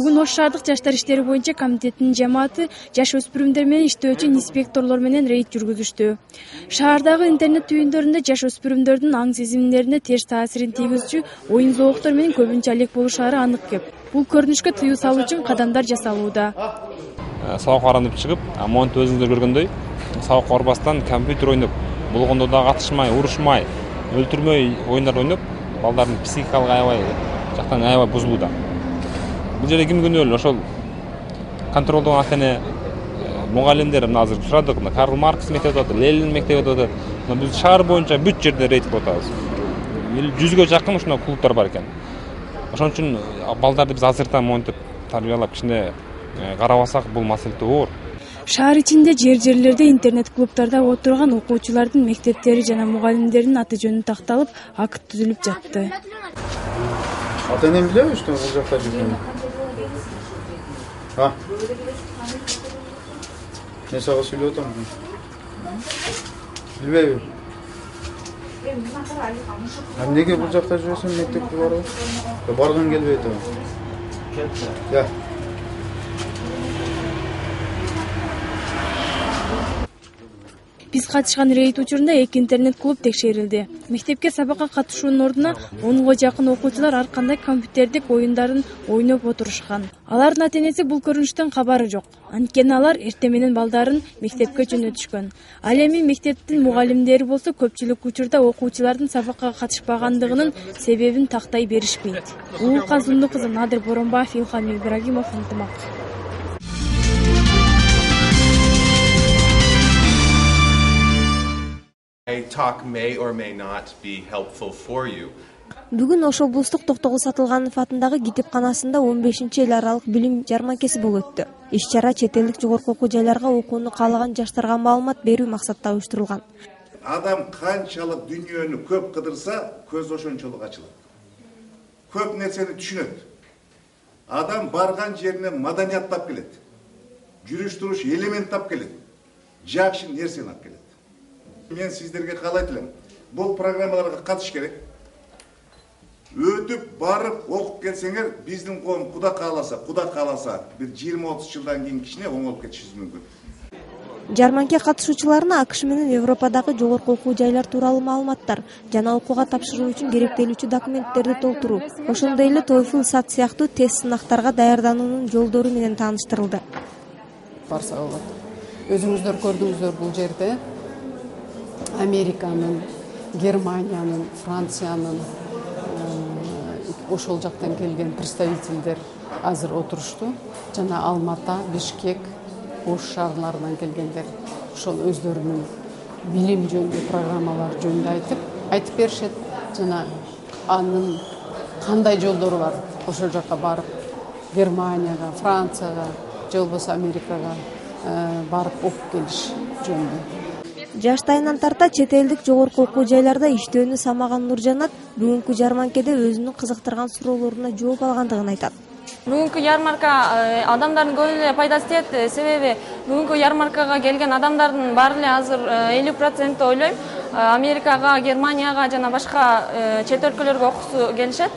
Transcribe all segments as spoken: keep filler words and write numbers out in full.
Бүгүн Ош шаардык жаштар иштери боюнча комитетинин жамааты жаш өспүрүмдөр менен иштөөчү инспекторлор менен рейд жүргүзүштү. Шаардагы интернет түйүндөрүндө жаш өспүрүмдөрдүн аң сезимдерине терс таасирин тийгизүүчү оюн зооктор менен көбүнчө алек болушары анык экен. Бул көрүнүшкө тыюу салуу үчүн кадамдар жасалууда. Сабак барам деп чыгып, монтип өзүңүздөр көргөндөй, сабак барбастан компьютер ойноп, болгондо да катышмай, урушмай, өлтүрмөй оюндар ойноп, балдардын психикалык аябай жактан аябай бузулууда. Бул жерде ким күнөөлүү? Ошол контролдогон ата-эне, мугалимдер. Мына азыр сурадык, мына Карл Маркс мектеби атат, Ленин мектеби атат. Биз шаар боюнча бүт жерде рейд кылып атабыз. Жүзгө жакын ушундай клубтар бар экен. Ошон үчүн балдарды биз азыртан монтип тарбиялап кичине карабасак бул маселе оор. Шаар ичинде жер-жерлерде интернет клубтарда отурган окуучулардын мектептери жана мугалимдердин аты жөнү такталып, акт түзүлүп жатты. Ата-энем билеби, что бул жакта жүргөнүн? А? Мен сага сүйлөп атам. Билбейби? Эмнеге бул жакта жүрөсүң, мектепке барып? Баргың келбей атабы? Я. Биз катышкан рейд учурунда эки интернет клуб текшерилди. Мектепке сабакка катышуунун ордуна онго жакын окуучулар ар кандай компьютердик оюндарын ойноп отурушкан. Алардын ата-энеси бул көрүнүштөн кабары жок. Анткени алар эртең менен балдарын мектепке жөнөтүшкөн. Ал эми мектептин мугалимдери болсо көпчүлүк учурда окуучулардын сабакка катышпагандыгынын себебин тактай беришпейт. Улукка Зунду кызы, Надыр Боронбаев, Илхам Ибрагимов, Ынтымак. Talk may or may not be helpful for you. Бүгүн Ош облустук Токтогул Сатылганов атындагы китепканасында он бешинчи эл аралык билим жарманкеси болуп өттү. Иш-чара чет элдик жогорку окуу жайларга окууну каалаган жаштарга маалымат берүү максатта уюштурулган. Адам канчалык дүйнөнү көп кыдырса, көз ошончолук ачылат. Көп нерсени түшүнөт. Адам барган жерине маданияттап келет. Жүрүш туруш элементтап келет. Жакшы нерсени алып келет. Мен сиздерге каалайт элем. Бул программаларга катыш керек. Өтүп барып окуп келсеңер, биздин коом Куда кааласа, Куда кааласа, бир жыйырма отуз жылдан кийин кичине оңолуп кетишибиз мүмкүн. Жарманке катышуучуларына АКШ менен Европадагы жогорку окуу жайлар тууралуу маалыматтар жана окууга тапшыруу үчүн керектелүүчү документтерди толтуруу, ошондой эле TOEFL, сат сыяктуу тест сынактарга даярдануунун жолдору менен тааныштырылды. Барса болот. Өзүңүздөр көрдүңүздөр бул жерде Американын, Германиянын, Франциянын, ошол жактан келген представительдер азыр отурушту. Жана Алмата, Бишкек, Ош шаарларынан келгендер ошол өздөрүнүн билим жөнүндө программалар жөнүндө айтып, айтып беришет. Жана анын кандай жолдору бар? Ошол жакка барып, Германияга, Францияга, же болбосо Америкага барып окуп келиш жөнүндө. Жаштайынан тарта чет элдик жогорку окуу жайларда иштөөнү самаган Нуржанат бүгүнкү жарманкеде өзүнүн кызыктырган суроолоруна жооп алгандыгын айтат. Бүгүнкү ярмарка адамдардын көп эле пайдасы тиет, себеби бүгүнкү ярмаркага келген адамдардын баары эле азыр элүү процент ойлойм Америкага, Германияга жана башка чет өлкөлөргө окуусу келишет.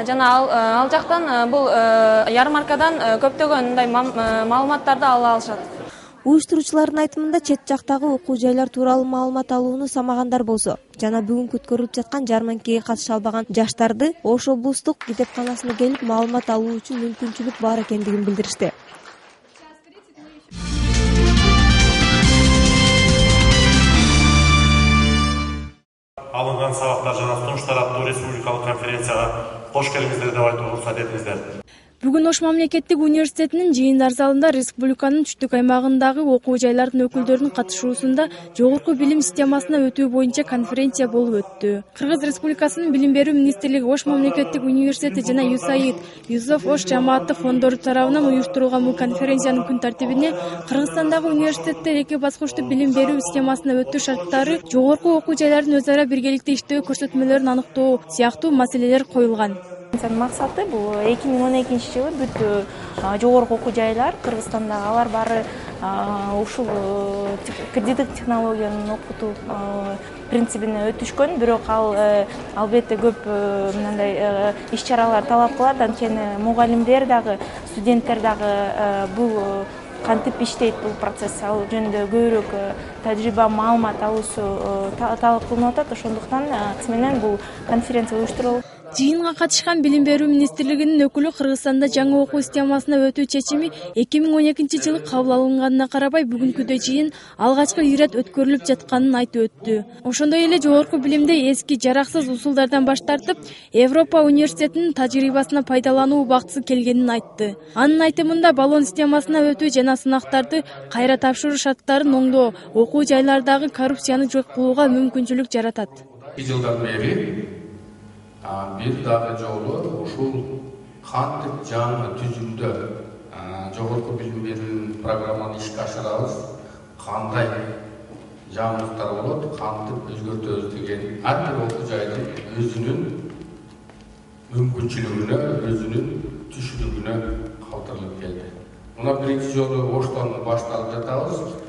Жана ал, ал жактан бул ярмаркадан көптөгөн мындай маалыматтарды ала алышат. Уюштуруучулардын айтымында чет жактагы окуу жайлар тууралуу маалымат алууну самагандар болсо жана бүгүн өткөрүлүп жаткан жарманкеге катыша албаган жаштарды Ош облустук китепканасына келип маалымат алуу үчүн мүмкүнчүлүк бар экендигин билдиришти. Алынган сабактар жана сунуштар аттуу республикалык конференцияга кош келиңиздер деп айтууга уруксат этиңиздер. Бүгүн Ош мамлекеттик университетинин жыйындар залында республиканын түштүк аймагындагы окуу жайлардын өкүлдөрүнүн катышуусунда жогорку билим системасына өтүү боюнча конференция болуп өттү. Кыргыз Республикасынын Билим берүү министрлиги, Ош мамлекеттик университети жана ЮСАИД, Юсуф Ош жамааттык фондору тарабынан уюштурулган бул конференциянын күн тартибине Кыргызстандагы университеттер эки баскычтуу билим берүү системасына өтүү шарттары, жогорку окуу жайлардын өз ара биргеликте иштөө көрсөтмөлөрүн аныктоо сыяктуу маселелер коюлган. Максаты бул эки миң он экинчи жылы бүт жогорку окуу жайлар Кыргызстандагы алар баары ушул кредиттик технологияны окутуу принцибине өтүшкөн. Бирок ал албетте көп мындай иш-чаралар талап кылат. Анткени мугалимдер дагы, студенттер дагы бул кантип иштейт бул процесс, ал жөнүндө көбүрөөк тажрыйба, маалымат алуусу талап кылынып атат. Ошондуктан менен бул конференция уюштурулат. Жыйынга катышкан Билим берүү министрлигинин өкүлү Кыргызстанда жаңы окуу системасына өтүү чечими эки миң он экинчи жылы кабыл алынганына карабай бүгүнкүдөй жыйын алгачкы ирет өткөрүлүп жатканын айтып өттү. Ошондой эле жогорку билимде эски жараксыз усулдардан баш тартып, Европа университетинин тажрыйбасына пайдалануу убактысы келгенин айтты. Анын айтымында баллон системасына өтүү жана сынактарды кайра тапшыруу шарттарын оңдоо окуу жайлардагы коррупцияны жок кылууга мүмкүнчүлүк жаратат. эки жылдан бери бир дагы жолу ушул кантип жаңы түзүмдө жогорку билим берүү программаны ишке ашырабыз, кандай жаңылыктар болот, кантип өзгөртөбүз деген ар бир окуу жайдын өзүнүн мүмкүнчүлүгүнө, өзүнүн түшүнүгүнө калтырылып келди. Мына биринчи жолу Оштон башталып жатабыз.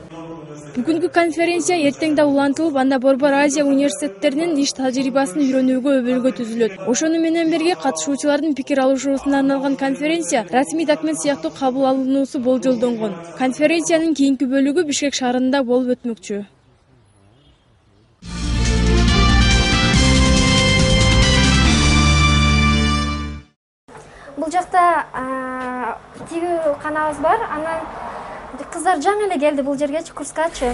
Бүгүнкү конференция эртең да улантылып, анда Борбор Азия университеттеринин иш тажрыйбасын үйрөнүүгө өбөлгө түзүлөт. Ошону менен бирге катышуучулардын пикир алышуусуна арналган конференция расмий документ сыяктуу кабыл алынуусу болжолдонгон. Конференциянын кийинки бөлүгү Бишкек шаарында болуп өтмөкчү. Бул жакта тигүү канабыз бар, анан кыздар жаңы эле келди бул жергечи, курскачы.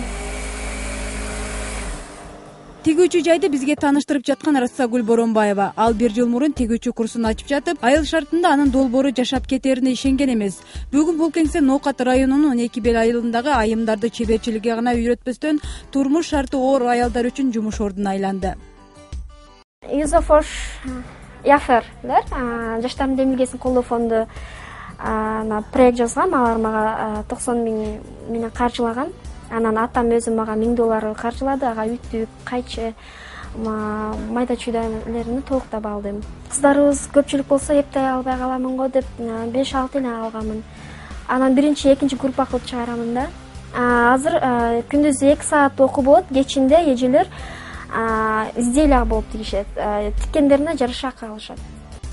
Тигүүчү жайды бизге тааныштырып жаткан Рассагүл Боронбаева. Ал бир жыл мурун тигүүчү курсун ачып жатып, айыл шартында анын долбоору жашап кетерине ишенген эмес. Бүгүн бул кеңсе Ноокат районунун он эки бел айылындагы айымдарды чеберчиликке гана үйрөтпөстөн турмуш шарты оор аялдар үчүн жумуш ордуна айланды. Юзофош Яферлер жаштардын демилгесин колдоо фонду проект жазгам, алар мага токсон миң менен каржылаган. Анан атам өзү мага миң доллар каржылады, ага үтүк, кайчы, майда чүйдөлөрүнү толуктап алдым. Кыздарыбыз көпчүлүк болсо эптей албай каламын го деп беш алты эле алганмын. Анан биринчи, экинчи группа кылып чыгарамын да. Азыр күндүз эки саат окуу болот, кечинде эжелер изделия болуп тигишет. Тиккендерине жараша акы алышат.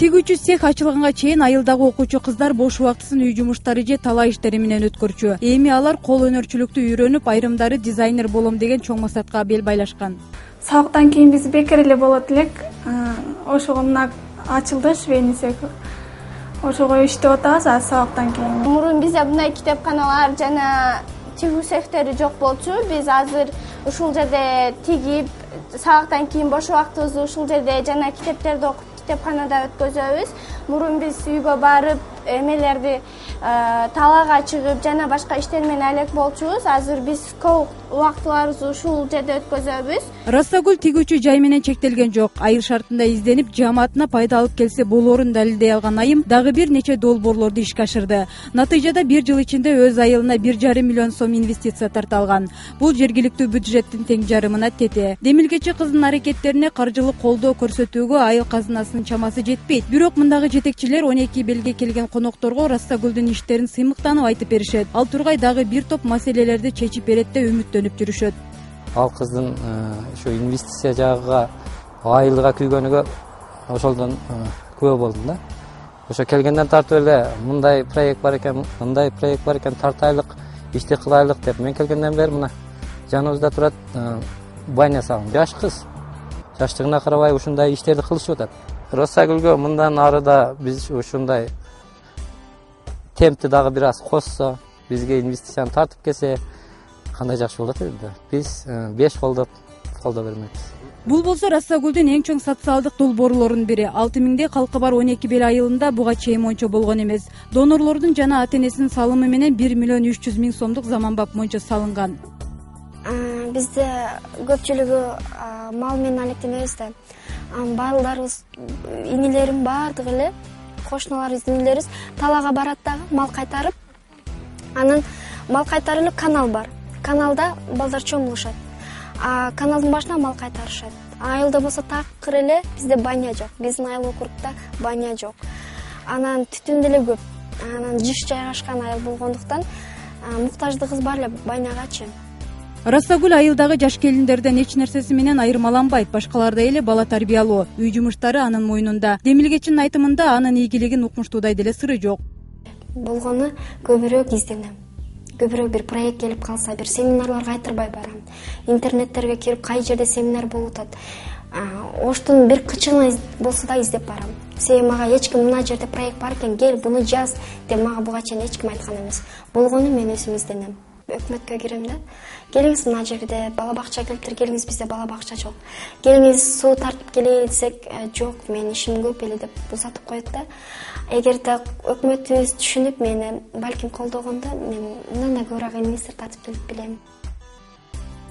Тигүүчү цех ачылганга чейин айылдагы окуучу кыздар бош убактысын үй жумуштары же талаа иштери менен өткөрчү. Эми алар кол өнөрчүлүктү үйрөнүп, айрымдары дизайнер болом деген чоң максатка бел байлашкан. Сабактан кийин биз бекер эле болот элек. Ошого мына ачылды швейный цех. Ошого иштеп атабыз азыр сабактан кийин. Мурун бизде мындай китепканалар жана тигүү цехтери жок болчу. Биз азыр ушул жерде тигип, сабактан кийин бош убактыбызды ушул жерде жана китептерди окуп китепканада өткөзөбүз. Мурун биз үйгө барып, эмелерди талаага чыгып жана башка иштер менен алек болчубуз. Азыр биз көп убактыларыбызды ушул жерде өткөзөбүз. Рассагүл тигүүчү жай менен чектелген жок. Айыл шартында изденип, жамаатына пайда алып келсе болоорун далилдей алган айым дагы бир нече долбоорлорду ишке ашырды. Натыйжада бир жыл ичинде өз айылына бир жарым миллион сом инвестиция тарта алган. Бул жергиликтүү бюджеттин тең жарымына тете. Демилгечи кыздын аракеттерине каржылык колдоо көрсөтүүгө айыл казынасынын чамасы жетпейт. Бирок мындагы жетекчилер он эки белге келген конокторго Рассагүлдүн иштерин сыймыктанып айтып беришет. Ал тургай дагы бир топ маселелерди чечип берет деп үмүттөнүп жүрүшөт. Ал кыздын ушу инвестиция жагыга айылга күйгөнүгө ошолдон күбө болдум да. Ошо келгенден тартып эле мындай проект бар экен, мындай проект бар экен, тартайлык, ишти кылайлык деп. Мен келгенден бери мына жаныбызда турат Баня сагым, жаш кыз. Жаштыгына карабай ушундай иштерди кылышып атат. Рассагүлгө мындан ары да биз ушундай темпти дагы бир аз коссо, бизге инвестицияны тартып келсе, кандай жакшы болот эле да. Биз беш колдоп колдоо бермекчиз. Бул болсо Рассагүлдүн эң чоң социалдык долбоорлорунун бири. алты миңдей калкы бар он эки бел айылында буга чейин мончо болгон эмес. Донорлордун жана ата-энесинин салымы менен бир миллион үч жүз миң сомдук заманбап мончо салынган. Бизде көпчүлүгү мал менен алектенебиз да. Балдарыбыз, инилерим баардыгы эле, кошуналарыбыз, инилерибиз талаага барат дагы мал кайтарып. Анан мал кайтарылып канал бар. Каналда балдар чомулушат. А каналдын башына мал кайтарышат. Айылда болсо такыр эле бизде баня жок. Биздин айыл округда баня жок. Анан түтүн деле көп. Анан жыш жайгашкан айыл болгондуктан муктаждыгыбыз бар эле банягачы. Расагүл айылдагы жаш келиндерден эч нерсеси менен айырмаланбайт. Башкалардай эле бала тарбиялоо, үй жумуштары анын мойнунда. Демилгечинин айтымында анын ийгилигин укмуштуудай деле сыры жок. Болгону көбүрөөк изденем. Көбүрөөк бир проект келип калса, бир семинарларга айтырбай барам. Интернеттерге кирип кай жерде семинар болуп атат. Оштун бир кычыгына болсо да издеп барам. Себеби мага эч ким мына жерде проект бар экен, кел буну жаз деп мага буга чейин эч ким айткан эмес. Болгону мен өзүм изденем. Өкмөткө кирем да. Келиңиз мына жерде бала бакча келиптир, келиңиз бизде бала бакча жок. Келиңиз суу тартып келели десек, жок, мен ишим көп эле деп бузатып коет да. Эгерде өкмөтүбүз түшүнүп мени балким колдогондо, мен мындан да көбүрөөк инвестор тартып келип билем.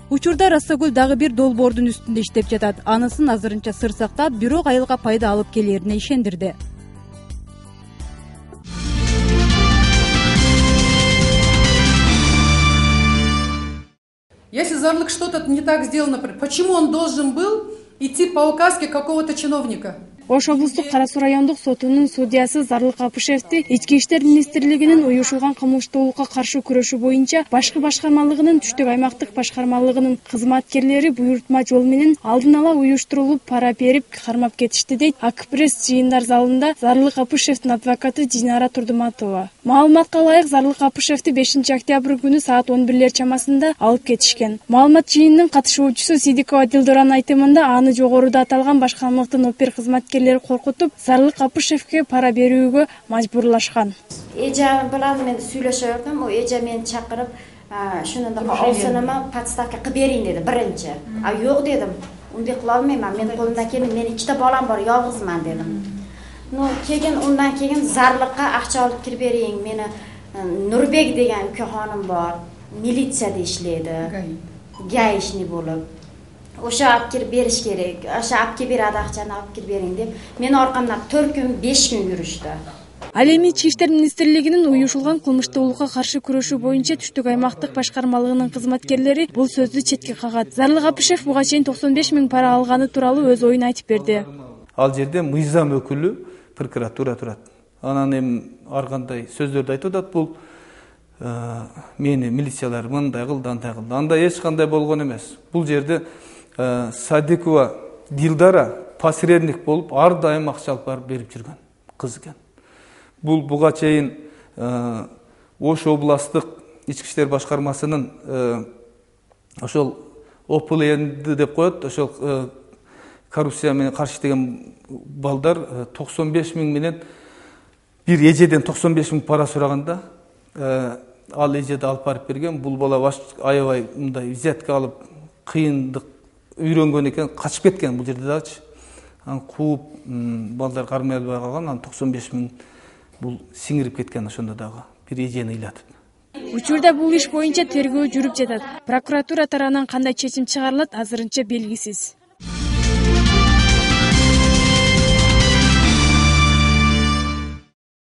Учурда Расагүл дагы бир долбоордун үстүндө иштеп жатат. Анысын азырынча сыр сактап, бирок айылга пайда алып келерине ишендирди. Если Зарлык что-то не так сделал, например, почему он должен был идти по указке какого-то чиновника? Ош облустук Кара Суу райондук сотунун судьясы Зарлык Апышевди Ички иштер министрлигинин уюшулган кылмыштуулукка каршы күрөшүү боюнча башкы башкармалыгынын түштүк аймактык башкармалыгынын кызматкерлери буйрутма жол менен алдын ала уюштурулуп пара берип кармап кетишти дейт Акпресс жыйындар залында Зарлык Апышевдин адвокаты Динара Турдуматова. Маалыматка ылайык Зарлык Апышевди бешинчи октябрь күнү саат он бирлер чамасында алып кетишкен. Маалымат жыйынынын катышуучусу Сидикова Дилдоранын айтымында аны жогоруда аталган башкармалыктын опер кызматкерлери коркутуп, Зарлык Апышевге пара берүүгө мажбурлашкан. Эже менен мен сүйлөшө бердим, о эже мени чакырып, шунунда алсанама подставка кылып берейин деди биринчи. А жок дедим. Ундай кыла албайм, менин колумда келин, менин ичте балам бар, жалгызман дедим. Ну, кеген ундан кийин Зарлыкка акча алып кирип берейин. Мени Нурбек деген үкө ханым бар, милицияда иштейди. Гаишник болуп. Ошо алып кирип бериш керек. Ошо алып кирип бер акчаны алып кирип бериң деп, мени аркамдан төрт күн, беш күн жүрүштү. Ал эми Ички иштер министрлигинин уюшулган кылмыштуулукка каршы күрөшүү боюнча түштүк аймактык башкармалыгынын кызматкерлери бул сөздү четке кагат. Зарлык Апышев буга чейин токсон беш миң пара алганы тууралуу өз оюн айтып берди. Ал жерде мыйзам өкүлү прокуратура турат. Анан эми ар кандай сөздөрдү айтып атат, бул мени милициялар мындай кылды, андай кылды. Андай эч кандай болгон эмес. Бул жерде Садикова Дилдара посредник болуп, ар дайым акча алып барып берип жүргөн кыз экен. Бул буга чейин Ош областтык ички иштер башкармасынын ошол О П Л Н деп коет, ошол коррупция менен каршы иштеген балдар токсон беш миң менен бир эжеден токсон беш миң пара сураганда, ал эжеди алып барып берген. Бул бала аябай мындай взятка алып, кыйындык үйрөнгөн экен, качып кеткен бул жерде дагычы. Анан кууп балдар кармай албай калган, анан токсон беш миң бул сиңирип кеткен ошондо дагы бир эжени ыйлатып. Учурда бул иш боюнча тергөө жүрүп жатат. Прокуратура тарабынан кандай чечим чыгарылат азырынча белгисиз.